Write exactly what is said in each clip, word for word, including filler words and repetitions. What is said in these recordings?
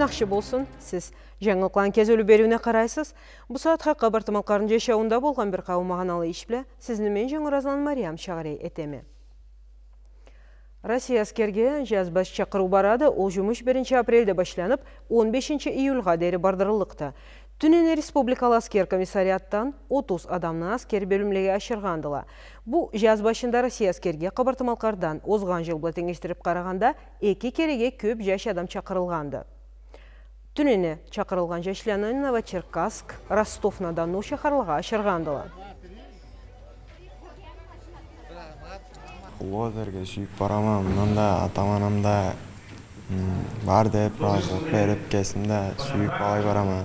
Ахшы болсун, сиз Жангылыкъланы кезиулю бериуюне къарайсыз. Бу сагъатха Къабарты-Малкъарны жашауунда болгъан бир къауум магъаналы иш бла сизни мен, Жангыразланы Мариям, шагъырей этеме. Россия аскерге жазбаш чакъырыу барады. Ол жумуш биринчи апрельде башланып, он бешинчи июлгъа дери бардырыллыкъды. Тюнене республикалы аскер комиссариатдан отуз адамны аскер бёлюмлеге ашыргъандыла. Бу жаз башында Россия аскерге Къабарты-Малкъардан озгъан жыл бла тенгешдирип къарагъанда эки кереге кёп жаш адам чакъырылгъанды. Тюнене чакъырылгъан жашланы Новочеркасск, Ростов-на-Дону шахарлагъа ашыргъандыла. Къуллукъ этерге сюйюп барама, мындан да атам-анам да, м, бар деп, ыразылыкъ берип, кесим да сюйюп алай барама.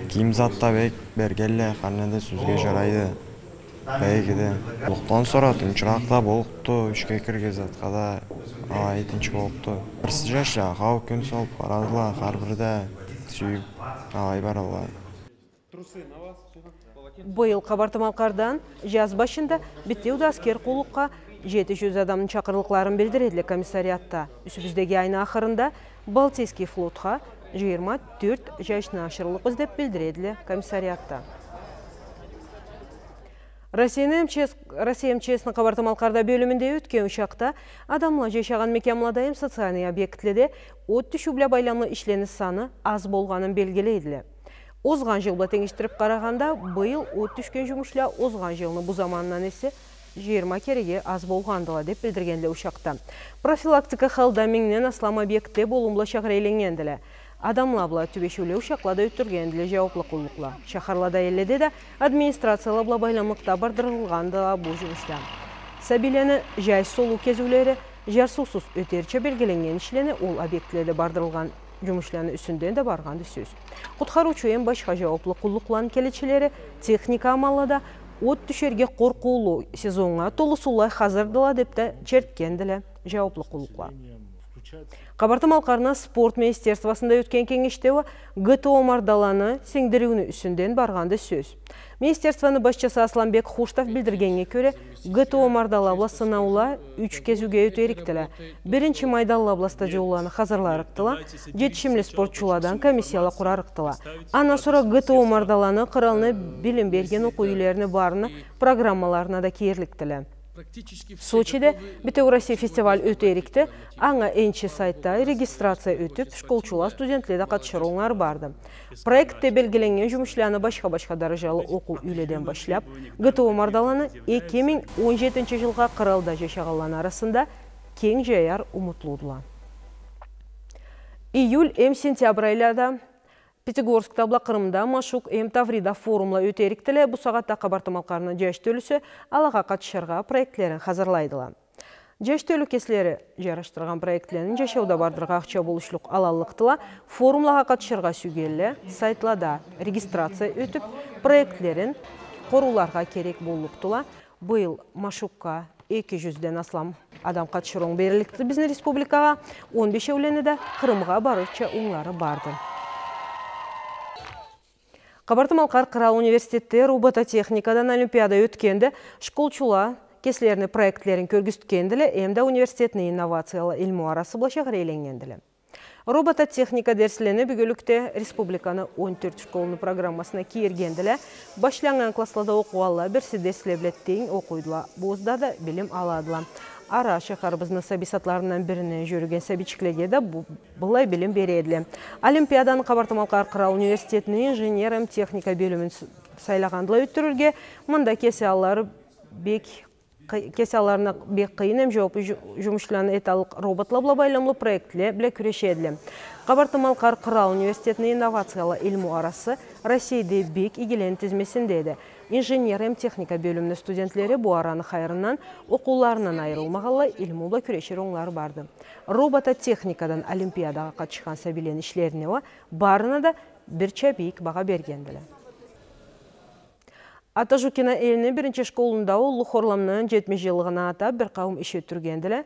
Кийим зат да бек бергенле, хар не да сёзге жарайды. Бек иги. Къуллукъдан сора тынчыракъ да боллукъду, ишге кирирге затха да алай тынч боллукъду. Бирси жашла хау кюн салып барадыла, хар бири да сюйюп алай барадыла. Быйыл Къабарты-Малкъардан жаз башында битеу да аскер къуллукъгъа жети жюз адамны чакъырлыкъларын билдиредиле комиссариатда. Юсюбюздеги айны ахырында Балтийский флотха жыйырма тёрт жашны ашырыллыкъбыз деп билдиредиле комиссариатда. Россияны М Ч С, Россия М Ч С-ни Къабарты-Малкъарда бёлюмюнде ётген ушакъда адамла жашагъан мекямлада эм социальный объектледе от тюшюу бла байламлы ишлени саны аз болгъанын белгилейдиле. Озгъан жыл бла тенгешдирип къарагъанда, быйыл от тюшген жумушла озгъан жылны бу заманындан эсе жыйырма кереге аз болгъандыла, деп билдиргендиле ушакъда. Профилактика халда мингден аслам объектде болум бла шагъырейленнгендиле. Адамла бла тюбешиуле ушакъла да ётдюргендиле жауаплы къуллукъла. Шахарлада, элледе да администрацияла бла байламлыкъда бардырылгъандыла бу жумушла. Сабийлени жай солуу кезиулери, жарсыусуз ётерча белгиленнген ишлени ол объектледе бардырылгъан жумушланы юсюнден да баргъанды сёз. Къутхарыучу эм башха жауаплы къуллукъланы келечилери техника амалда от тюшерге къоркъуулу сезоннга толусулай хазырдыла деп да чертгендиле жауаплы къуллукъла. Къабарты-Малкъарны спорт министерствосунда ётген кенгешде уа Г Т О мардаланы сингдириуню юсюнден баргъанды сёз. Министерствону башчысы Асланбек Хуштов билдиргеннге кёре, Г Т О мардала бла сынаула юч кезиуге ётерикдиле. Биринчи майданла бла стадионланы хазырларыкъдыла, жетишимли спортчуладан комиссияла къурарыкъдыла. Андан сора Г Т О мардаланы къыралны билим берген окъуу юйлерини барыны программаларына да кирликдиле. Сочиде битеу Россия фестиваль ётерикди, анга энчи сайтда регистрация ётюп, школчула, студентле да къатышыр онглары барды. Проектде белгиленнген жумушланы башха-башха даражалы окъуу юйледен башлап, Г Т О мардаланы эки минг он жетинчи жылгъа къыралда жашагъанланы арасында кенг жаяр умутлудула. Июль эм сентябрь айлада Пятигорскда бла Къырымда Машук эм Таврида форумла ётерикдиле. Бу сагъатда Къабарты-Малкъарны жаш тёлюсю алагъа къатышыргъа проектлерин хазырлайдыла. Жаш тёлю кеслери жарашдыргъан проектлерин жашауда бардыргъа ахча болушлукъ алаллыкъдыла. Форумлагъа къатышыргъа сюйгенле сайтлада регистрация ётюп, проектлерин къорууларгъа керек боллукъдула. Быйыл Машукга эки жюзден аслам адам къатышыр онг берилликди бизни республикагъа, он бешеулени да Къырымгъа барырча онглары барды. Къабарты-Малкъар къырал университетде робототехникадан олимпиада ётгенди. Школчула кеслерини проектлерин кёргюзтгендиле, эмда университетни инновацияла илму арасы бла шагъырейленнгендиле. Робототехника дерслени бюгюнлюкде республиканы он тёрт школуну программасына кийиргендиле. Башланнган классла да окъугъанла бирси дерсле бла тенг окъуйдула, бу узда да билим аладыла. Ара шахарыбызны сабий садларындан бирине жюрюген сабийчиклеге да бу былай билим бередиле. Олимпиаданы Къабарты-Малкъар къырал университетини инженер эм техника бёлюмюн с-, сайлагъандыла ётдюрюрге. Мында кеси аллары бек къы-, кеси алларына бек къыйын эм жууаплы жу-, жумушланы эталлыкъ роботла бла байламлы проектле бла кюрешедиле. Къабарты-Малкъар къырал университетини инновацияла илму арасы Россейде бек игилени тизмесиндеди. Инженер эм техника бёлюмюню студентлери бу араны хайырындан, окъууларындан айырылмагъанлай, илму бла кюрешир онглары барды. Робототехникадан олимпиадагъа къатышхан сабийлени ишлерине уа барына да бирча бийик багъа бергендиле. Ата Жукина элни биринчи школунда Уллу Хорламны жетмиш жыллыгъына атап бир къауум иш ётдюргендиле.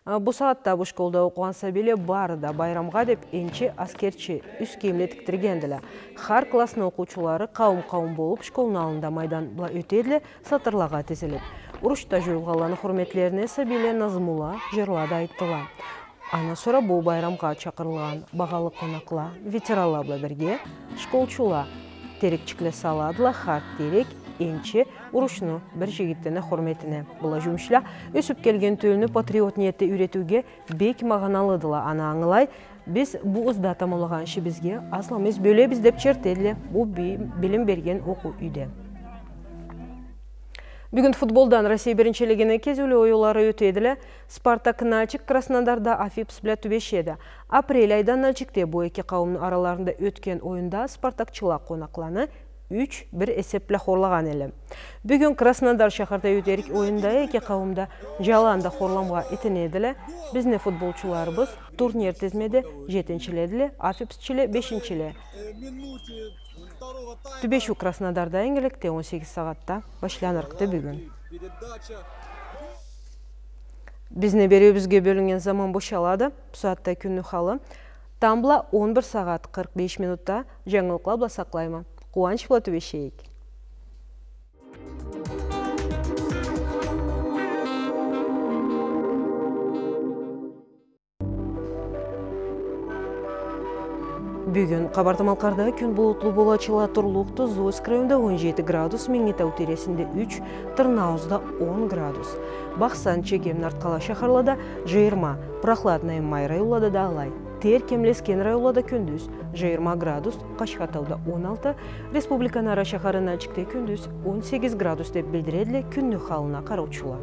Э, бу сагъатда бу школда окъугъан сабийле бары да байрамгъа деп энчи аскерчи юс кийимле тикдиргендиле. Хар классны окъуучулары къауум-къауум болуп, школну аллында майдан бла ётедиле, сатырлагъа тизилип. Урушда жоюлгъанланы хурметлерине сабийле назмула, жырла да айтдыла. Андан сора бу байрамгъа чакъырылгъан багъалы къонакъла ветеранла бла бирге школчула терекчикле саладыла, хар терек энчи урушну бир жигитден хурметине. Была жумушла ёсюп келген тёлюню патриот ниетде юйретиуге бек магъаналыдыла, аны ангылай. Биз бу ызда тамамлагъан ишибизге аз-маз бёлебиз деп чертедиле бу би-, билим берген окъуу юйде. Бюгюн футболдан Россия биринчилигини кезиулю оюнлары ётедиле. Спартак Нальчик Краснодарда Уфипс бла тюбешеди. Апрель айда Нальчикде бу эки къауумну араларында ётген оюнда спартакчыла къонакъланы юч бир эсеп бла хорлагъан эдиле. Бюгюн Краснодар шахарда ётерик оюнда эки къауум да жаланда хорламгъа итинедиле. Бизни футболчуларыбыз турнир тизмеде жетинчиледиле, уфипсчиле бешинчиле. Тюбешиу Краснодарда ингирликде он сегиз сагъатда башланырыкъды бюгюн. Бизни бериуюбюзге бёлюннген заман бошалады. Бусагъатда кюнню халы тамбла он бир сагъат къыркъ беш минутда. Жангылыкъла бла сакълайма. Къууанч бла тюбешейик. Бюгюн Къабарты-Малкъарда кюн булутлу болачыла турлукъду. Зуевский районда он жети градус, Минги Тау тийресинде юч, Тырныауузда он градус. Бахсан, Чегем, Нарткъала шахарлада жыйырма, Прохладное, Май районлада да алай. Тер кемлесген районлада кюндюз жыйырма градус, Къашхатауда он алты, республиканы ара шахары Нальчикде кюндюз он сегиз градус деп билдиредиле кюнню халына къараучула.